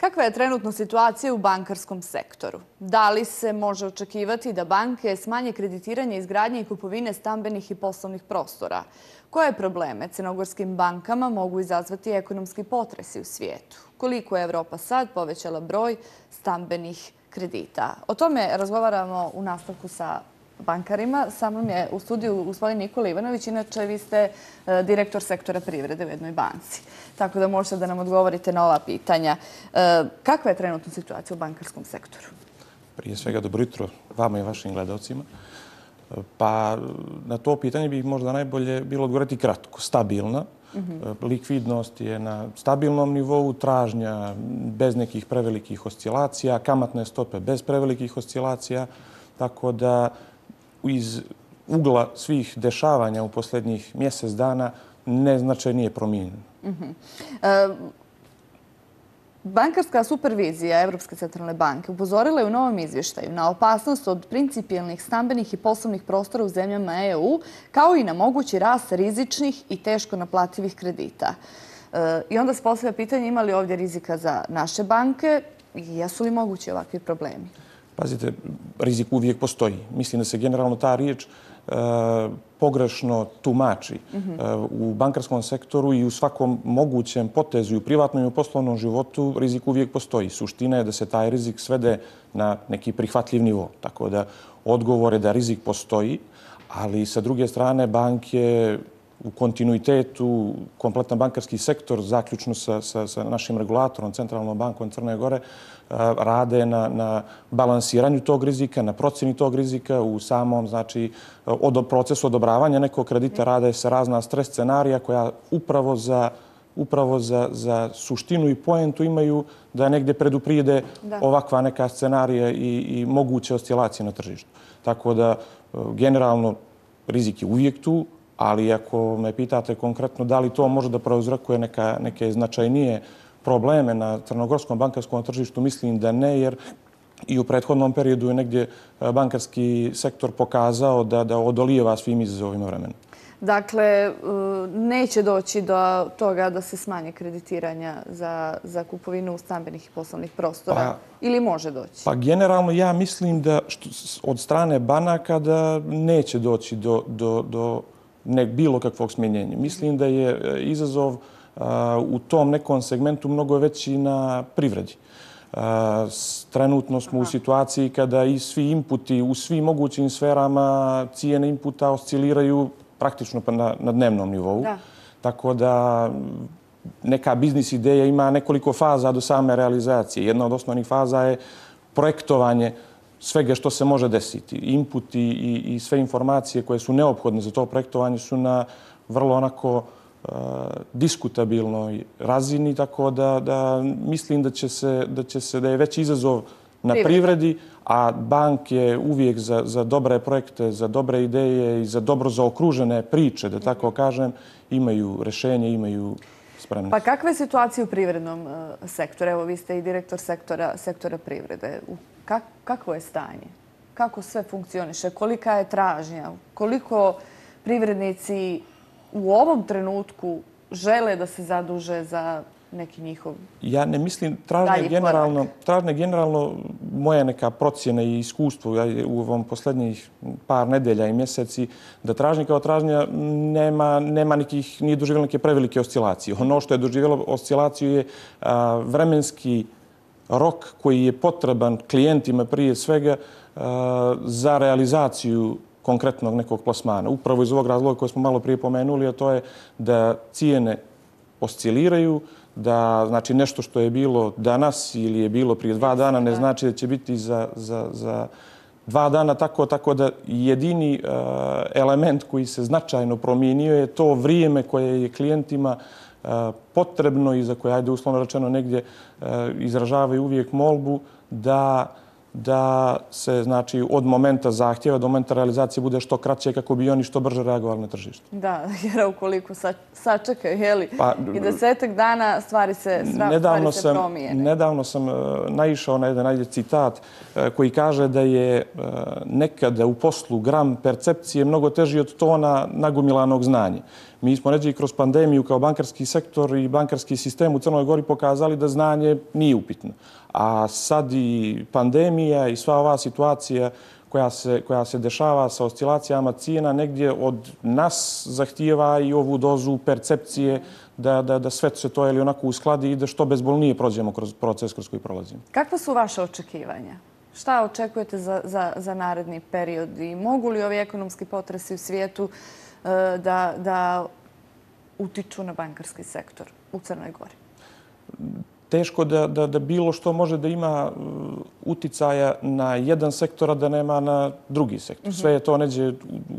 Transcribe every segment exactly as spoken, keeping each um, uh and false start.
Kakva je trenutno situacija u bankarskom sektoru? Da li se može očekivati da banke smanje kreditiranje izgradnje i kupovine stambenih i poslovnih prostora? Koje probleme crnogorskim bankama mogu izazvati ekonomski potresi u svijetu? Koliko je Evropa sad povećala broj stambenih kredita? O tome razgovaramo u nastavku sa bankarima. Sa mnom je u studiju gospodin Nikola Ivanović. Inače, vi ste direktor sektora privrede u jednoj banci. Tako da možete da nam odgovorite na ova pitanja. Kakva je trenutna situacija u bankarskom sektoru? Prije svega, dobro jutro vama i vašim gledalcima. Pa na to pitanje bi možda najbolje bilo odgovoriti kratko. Stabilna. Likvidnost je na stabilnom nivou, tražnja bez nekih prevelikih oscilacija, kamatne stope bez prevelikih oscilacija. Tako da iz ugla svih dešavanja u posljednjih mjesec dana neznačajnije promijenjeno. Bankarska supervizija Evropske centralne banke upozorila je u novom izvještaju na opasnost od principijelnih stambenih i poslovnih prostora u zemljama E U, kao i na mogući rast rizičnih i teško naplativih kredita. I onda se postavlja pitanje ima li ovdje rizika za naše banke i jesu li mogući ovakvi problemi? Pazite, rizik uvijek postoji. Mislim da se generalno ta riječ pogrešno tumači. U bankarskom sektoru i u svakom mogućem potezu i u privatnom i u poslovnom životu rizik uvijek postoji. Suština je da se taj rizik svede na neki prihvatljiv nivo. Tako da odgovor je da rizik postoji, ali sa druge strane banke u kontinuitetu, kompletan bankarski sektor, zaključno sa, sa, sa našim regulatorom, Centralnom bankom Crne Gore, rade na, na balansiranju tog rizika, na procjeni tog rizika, u samom znači, od, procesu odobravanja nekog kredita rade se razna stres scenarija koja upravo za upravo za, za suštinu i poentu imaju da negdje preduprijede ovakva neka scenarija i, i moguće oscilacije na tržištu. Tako da generalno rizik je uvijek tu, ali ako me pitate konkretno da li to može da prouzrokuje neka, neke značajnije probleme na crnogorskom bankarskom tržištu, mislim da ne, jer i u prethodnom periodu je negdje bankarski sektor pokazao da, da odolijeva svim izazovima vremena. Dakle, neće doći do toga da se smanje kreditiranja za, za kupovinu stambenih i poslovnih prostora? Pa, ili može doći? Pa generalno ja mislim da što, od strane banaka da neće doći do, do, do ne, bilo kakvog smjenjenja. Mislim da je izazov u tom nekom segmentu mnogo veći na privredi. Trenutno smo u situaciji kada i svi inputi u svim mogućim sferama cijene inputa osciliraju praktično na, na dnevnom nivou. Da. Tako da neka biznis ideja ima nekoliko faza do same realizacije. Jedna od osnovnih faza je projektovanje svega što se može desiti. Inputi i, i sve informacije koje su neophodne za to projektovanje su na vrlo onako diskutabilnoj razini, tako da, da mislim da će se, da će se, da je već izazov na privredi, a banke uvijek za, za dobre projekte, za dobre ideje i za dobro zaokružene priče, da tako kažem, imaju rješenje, imaju spremnost. Pa kakva je situacija u privrednom sektoru? Evo, vi ste i direktor sektora, sektora privrede. Kak, kakvo je stanje? Kako sve funkcioniše? Kolika je tražnja? Koliko privrednici u ovom trenutku žele da se zaduže za neki njihov Ja ne mislim, tražnje generalno, tražnje generalno moja neka procjena i iskustvo u ovom posljednjih par nedelja i mjeseci, da tražnje kao tražnja nema, nema nekih, nije doživjela neke prevelike oscilacije. Ono što je doživjelo oscilaciju je a, vremenski rok koji je potreban klijentima prije svega a, za realizaciju konkretnog nekog plasmana. Upravo iz ovog razloga koje smo malo prije pomenuli, a to je da cijene osciliraju, da znači nešto što je bilo danas ili je bilo prije dva dana ne znači da će biti za, za, za dva dana tako, tako da jedini uh, element koji se značajno promijenio je to vrijeme koje je klijentima uh, potrebno i za koje, ajde uslovno rečeno, negdje uh, izražavaju uvijek molbu da da se znači od momenta zahtjeva do momenta realizacije bude što kraće kako bi oni što brže reagovali na tržište. Da, jer ukoliko sačekaju, jeli, pa, i desetak dana stvari se, stvari se promijene. Nedavno sam uh, naišao na jedan najde citat uh, koji kaže da je uh, nekada u poslu gram percepcije mnogo teži od tona nagomilanog znanja. Mi smo ređe i kroz pandemiju kao bankarski sektor i bankarski sistem u Crnoj Gori pokazali da znanje nije upitno. A sad i pandemija i sva ova situacija koja se, koja se dešava sa oscilacijama cijena negdje od nas zahtijeva i ovu dozu percepcije da, da, da sve se to ili onako uskladi i da što bezbolnije prođemo kroz proces kroz koji prolazimo. Kakva su vaše očekivanja? Šta očekujete za, za, za naredni period i mogu li ovi ekonomski potresi u svijetu uh, da, da utiču na bankarski sektor u Crnoj Gori? Teško da, da, da bilo što može da ima uticaja na jedan sektor, a da nema na drugi sektor. Sve je to neđe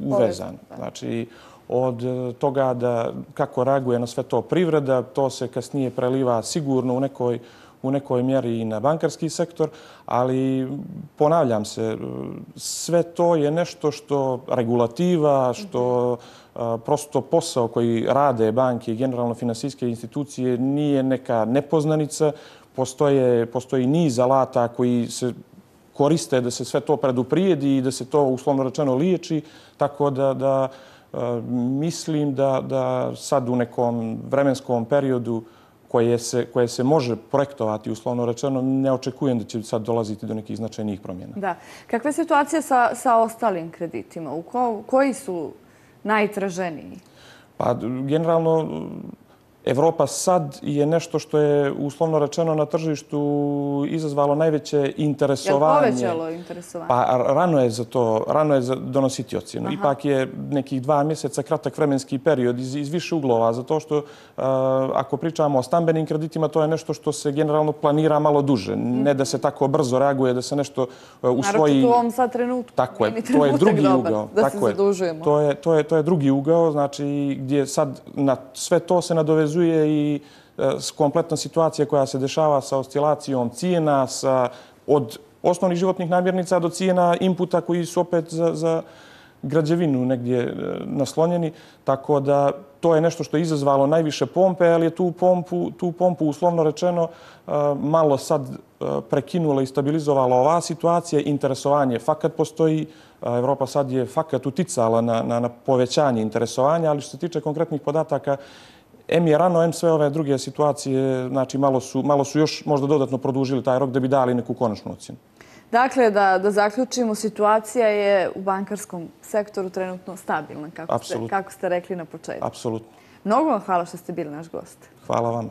uvezano. Znači, od toga da kako reaguje na sve to privreda, to se kasnije preliva sigurno u nekoj, u nekoj mjeri i na bankarski sektor, ali ponavljam se, sve to je nešto što regulativa, što prosto posao koji rade banke i generalno finansijske institucije nije neka nepoznanica. Postoje, postoji niz alata koji se koriste da se sve to preduprijedi i da se to uslovno rečeno liječi, tako da, da mislim da, da sad u nekom vremenskom periodu koje se, koje se može projektovati, uslovno rečeno, ne očekujem da će sad dolaziti do nekih značajnijih promjena. Da. Kakva je situacija sa, sa ostalim kreditima? U ko, koji su najtraženiji? Pa, generalno, Evropa sad je nešto što je, uslovno rečeno, na tržištu izazvalo najveće interesovanje. Je li povećalo interesovanje? Pa rano je za to, rano je za donositi ocjenu. Aha. Ipak je nekih dva mjeseca kratak vremenski period iz, iz više uglova, zato što uh, ako pričamo o stambenim kreditima, to je nešto što se generalno planira malo duže. Mm. Ne da se tako brzo reaguje, da se nešto uh, usvoji. Naravno, u ovom sad trenutku. Tako je, to je drugi dobar, ugao. Da tako se zadužujemo. To je, to, je, to je drugi ugao, znači gdje sad na sve to se nadovezuje i kompletna situacija koja se dešava sa oscilacijom cijena, sa, od osnovnih životnih namirnica do cijena inputa koji su opet za, za građevinu negdje naslonjeni. Tako da to je nešto što je izazvalo najviše pompe, ali je tu pompu, tu pompu uslovno rečeno malo sad prekinula i stabilizovala ova situacija. Interesovanje fakat postoji. Evropa sad je fakat uticala na, na, na povećanje interesovanja, ali što se tiče konkretnih podataka, em je rano, em sve ove druge situacije, znači malo su, malo su još možda dodatno produžili taj rok da bi dali neku konačnu ocjenu. Dakle, da, da zaključimo, situacija je u bankarskom sektoru trenutno stabilna, kako ste, kako ste rekli na početku. Apsolutno. Mnogo vam hvala što ste bili naš gost. Hvala vama.